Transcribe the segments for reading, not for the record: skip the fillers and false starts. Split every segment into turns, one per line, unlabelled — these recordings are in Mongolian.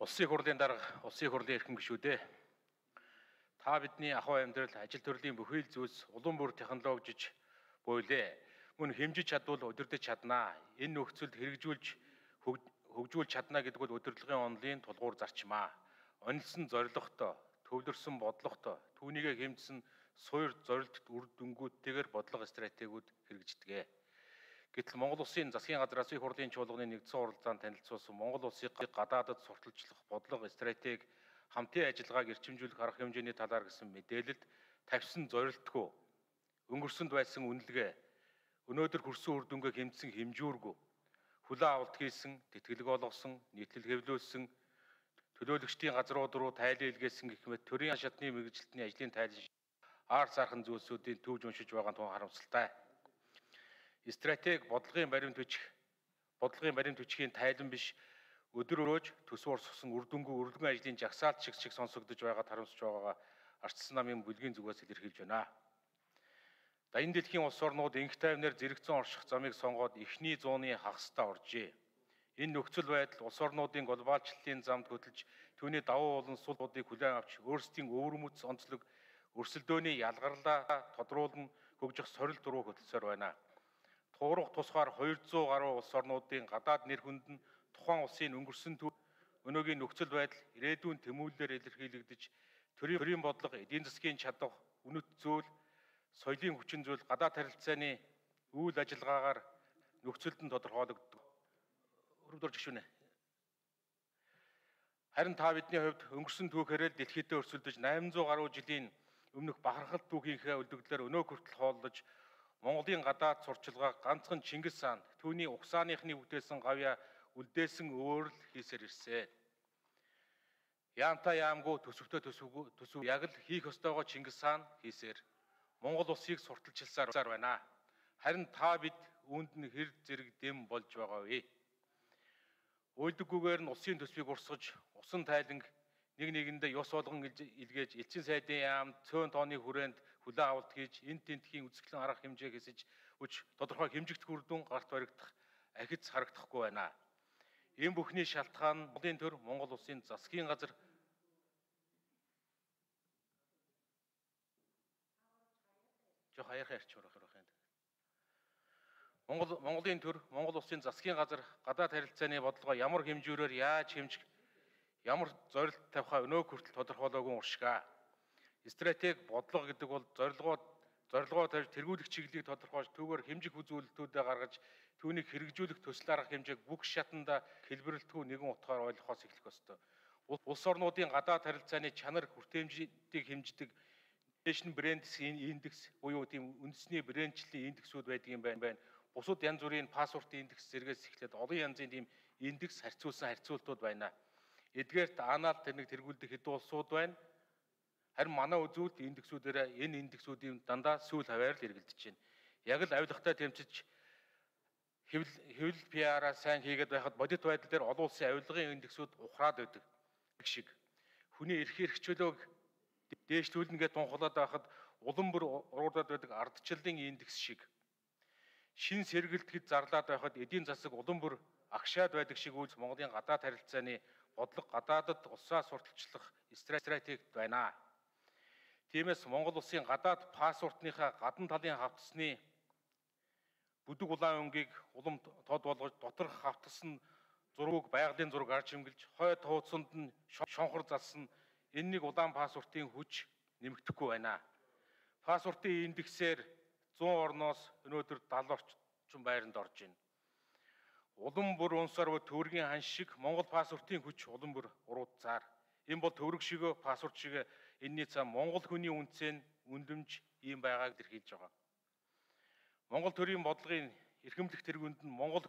Улсын хурлын дарга, улсын хурлын эрхэм гишүүдээ. Та бидний ахуй амьдрал, ажил төрлийн бүхий л зүйлс улам бүр технологижиж буйлээ. Мөн хэмжиж чадвал удирдах чаднаа. Энэ нөхцөлд хэрэгжүүлж хөгжүүлж чадна гэдэг бол удирдлагын онолын тулгуур зарчмаа. Онилсон зорилготой, төвлөрсөн бодлоготой, түүнийгээ хэмжсэн суур зорилт үр дүнгуудтэйгээр бодлого стратегиуд хэрэгждэг. Гэтэл Монгол Улсын засгийн газраас их хурлын чуулганы нэгдсэн уралдаанд танилцуулсан Монгол Улсыг гадаадад сурталчлах бодлого стратеги хамтын ажиллагааг эрчимжүүлэх арга хэмжээний талаар гэсэн мэдээлэлд тавьсан зорилтгүй өнгөрсөнд байсан үнэлгээ өнөөдөр хүрсэн үр дүнгээ хэмжсэн хэмжүүргүй хүлээн авалт хийсэн, тэтгэлэг олгосон, нийтлэл хэвлүүлсэн, төлөөлөгчдийн газрууд руу тайлан илгээсэн гэх мэт төрийн шатны мэргэжилтний ажлын тайлан аар сархан зүйлсүүдийн төвж уншиж байгаа нь тун харамсалтай. Стратеги бодлогын баримт бичгийн тайлан биш өдөр өрөөж төсвөр сусан үр дүнгүй өргөн ажлын жагсаалт шиг сонсогдож байгаад харамсаж байгаагаа Арчсан намын бүлгийн зүгээс илэрхийлж байна. Даян дэлхийн улс орнууд инх тайвнаар зэрэгцэн орших замыг сонгоод эхний зууны хагасдаа оржээ. Энэ нөхцөл байдал улс орнуудын глобалчлалын замд хөтлөж түүний давуу болон сул будыг хүлээн авч өөрсдийн өвөрмөц онцлог өрсөлдөөний ялгарлаа тодруулан хөгжих сорилт руу хөтлсөөр байна. Туурах тусгаар 200 гаруй улс орнуудын гадаад нэр хүнд нь тухайн улсын өнгөрсөн өнөөгийн нөхцөл байдал ирээдүйн тэмүүлэлээр илэрхийлэгдэж төрийн бодлого, эдийн засгийн чадвар, үнэт зүйл, соёлын хүчин зүйл, гадаад харилцааны үйл ажиллагаагаар нөхцөлд нь тодорхойлогддог. Өрөвдөр жишүүнэ. Харин та бидний хувьд өнгөрсөн түүхээрээ дэлхийдээ өрсөлдөж 800 гаруй жилийн өмнөх бахархалт түүхийнхээ үлдэгдлээр өнөө хүртэл хооллож Монголын гадаад сурчилгаа ганцхан Чингис хаан түүний угсааныхны бүтээсэн гавья үлдээсэн өөр л хийсээр ирсэн. Яамтай яамгүй төсөвтэй төсөв яг л хийх ёстойгоо Чингис хаан хийсээр Монгол улсыг сурталчилсаар байна. Харин та бид үүнд нь хэр зэрэг дэм болж байгаа вэ? Уйлдаггүйгээр нь улсын төсвийг урсгаж, усан тайланг нэг нэгэндээ ёс болгон илгээж, элчин сайдын яамд цөөн тооны хүрээнд хүлээн авалт хийж, энэ тентхийн үзэсгэлэн арга хэмжээ хэсэж хүч тодорхой хэмжигдэх үр дүн гарт баригдах, ахиц харагдахгүй байна. Энэ бүхний шалтгаан нь Монголын төр Монгол улсын засгийн газар Монголын төр Монгол улсын засгийн газар гадаад харилцааны бодлогоо ямар хэмжүүрээр яаж хэмжих, ямар зорилт тавихаа өнөө хүртэл тодорхойлоогүй уршгаа. Стратеги бодлого гэдэг бол зорилгоо тавьж тэргүүлэх чиглэлийг тодорхойлж түүгээр хэмжих үзүүлэлтүүдэд гаргаж түүнийг хэрэгжүүлэх төсөл арга хэмжээг бүх шатанда хэлбэрлэлтгүй нэгэн утгаар ойлгохоос эхлэх ёстой. Улс орнуудын гадаад харилцааны чанар хүртээмжийг хэмждэг Nation Brands индекс буюу тийм үндэсний брэндчлэлийн индексүүд байдаг юм байна. Бусад янз бүрийн пассвортын индекс зэрэгс эхлээд олон янзын тийм индекс харьцуулсан харьцуултууд байна. Эдгээрт анаал тэрнийг тэргүүлдэг хэдэн улсууд байна. Харин манай үзүүлэлт индексүүдээр энэ индексүүдийн дандаа сүүл хаваар л эргэлдэж байна. Яг л авилгатай тэмцэж хэвлэл PR-аа сайн хийгээд байхад бодит байдал дээр олон улсын авилгын индексүүд ухраад байдаг шиг. Хүний эрх хэрэгчлөөг дээшлүүлнэ гэж тунхаглаад байхад улам бүр уруудаад байдаг ардчлалын индекс шиг. Шин сэргэлтэд зарлаад байхад эдийн засаг улам бүр агшаад байдаг шиг үйлс Монголын гадаад харилцааны бодлого гадаадад улсаа сурталчлах стратеги байна. Тиймээс Монгол улсын гадаад пассвортныхаа гадна талын хавтасны бүдэг улаан өнгийг улам тод болгож доторх хавтасны зургийг байгалийн зураг арж хэмгэлж хойд хуудсанд нь шонхор залсан энэ нэг улаан пассвортын хүч нэмэгдэхгүй байна. Пассвортын индексээр 100 орноос өнөөдөр 70 орчим байранд орж байна. Улам бүр унсаар төвөргийн хан шиг Монгол пассвортын хүч улам бүр уруудцаар. Энэ бол төвөрг шигэ пассворт шигэ энэний цаана Монгол хүний үнцэн үнлэмж ийм байгааг илэрхийлж байгаа. Монгол төрийн бодлогын эрхэмлэх тэргүүнд нь Монгол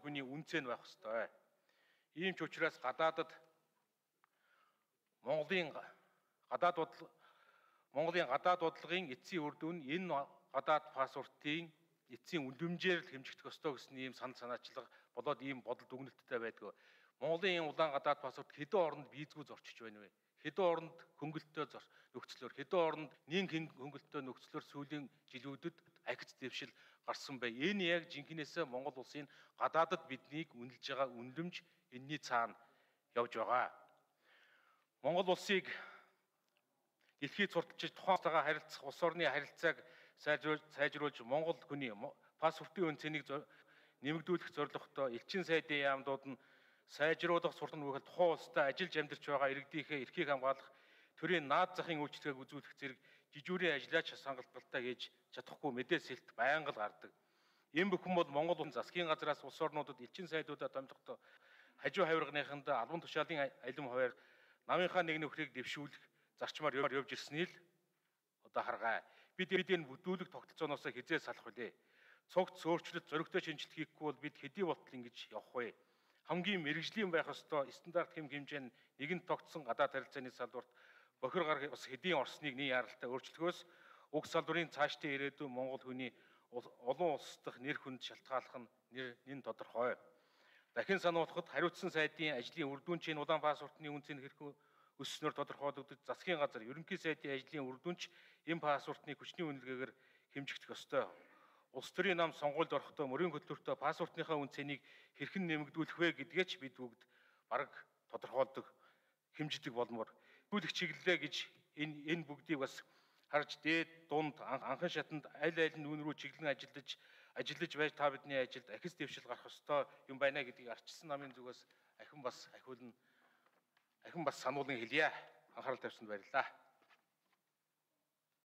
хүний үнцэн байх ёстой. Ийм ч учраас гадаадад Монголын гадаад бодлогын эцсийн үр дүн энэ гадаад пассвортын эцсийн үнлэмжээр л хэмжигдэх ёстой гэсэн ийм санаачлага болоод ийм бодол дүгнэлттэй байдаг. Монголын энэ улаан гадаад пассворт хэдэн оронд визгүй зорчиж байна вэ? Хэдэн оронд хөнгөлөлтөө нөхцлөөр, хэдэн оронд нийгэм хөнгөлөлтөө нөхцлөөр сүүлийн жилүүдэд ахиц дэвшил гарсан бай. Энэ яг жинхнээсээ Монгол улсын гадаадад биднийг үнэлж байгаа үнлэмж энэний цаана явж байгаа. Монгол улсыг дэлхийд сурталчилж тухайн улсаагаа харилцах улс орны харилцааг сайжруулж Монгол хүний паспортын үн цэнийг нэмэгдүүлэх зорилготой элчин сайдын яамдууд нь сайжруулах суртан бүхэл тухайн улстай ажиллаж амьдарч байгаа иргэдийнхээ эрхийг хамгаалах төрийн наад захын үйлчлэгийг үзүүлэх зэрэг жижүүрийн ажлаач хангалттай хийж чадахгүй мэдээлэлт байнга л гардаг. Энэ бүхэн бол Монгол улсын засгийн газраас улс орнуудад элчин сайдуудаа томилохдоо хажуу хавирганыханд албан тушаалын алим хуваар намынхаа нэг нөхрийг дэвшүүлэх зарчмаар явж ирснийг л одоо харгаа. Бид энэ бүдүүлэг тогтолцооноос хизээ салах вүлээ. Цогц өөрчлөлт зоригтой шинжилт хийхгүй бол бид хэдий болтол ингэж явах вэ? Хамгийн мэрэгжлийн байх ёстой стандарт хэм хэмжээнд нэгэн тогтсон гадаад харилцааны салбарт бохир гар бас хэдийн орсныг нэг яралтай өөрчлөхөөс уг салбарын цаашдын ирээдүйн Монгол хүний олон улс дахь нэр хүнд шалтгааллах нь тодорхой. Дахин сануулхад хариуцсан сайдын ажлын үр дүнчийн улаан паспортны үнцийг хэрхэн өсснөөр тодорхойлогдож засгийн газар ерөнхий сайдын ажлын үр дүнч энэ паспортны хүчний үнэлгээгээр хэмжигдэх ёстой. Улс төрийн нам сонгуульд орохдоо мөрийн хөтөлбөртөө паспортныхаа үн цэнийг хэрхэн нэмэгдүүлэх вэ гэдгээ ч бид бүгд бараг тодорхойлдог, хэмждэг болмоор нэмэгдүүлэх чиглэлээ гэж энэ бүгдийг бас харж дээд дунд анхан шатанд аль аль нь үүн рүү чиглэн ажиллаж байж та бидний ажилд ахис дэвшил гарах ёстой юм байна гэдгийг арчилсан намын зүгээс ахин бас сануулan хэлье. Анхаарал тавьсанд баярлалаа.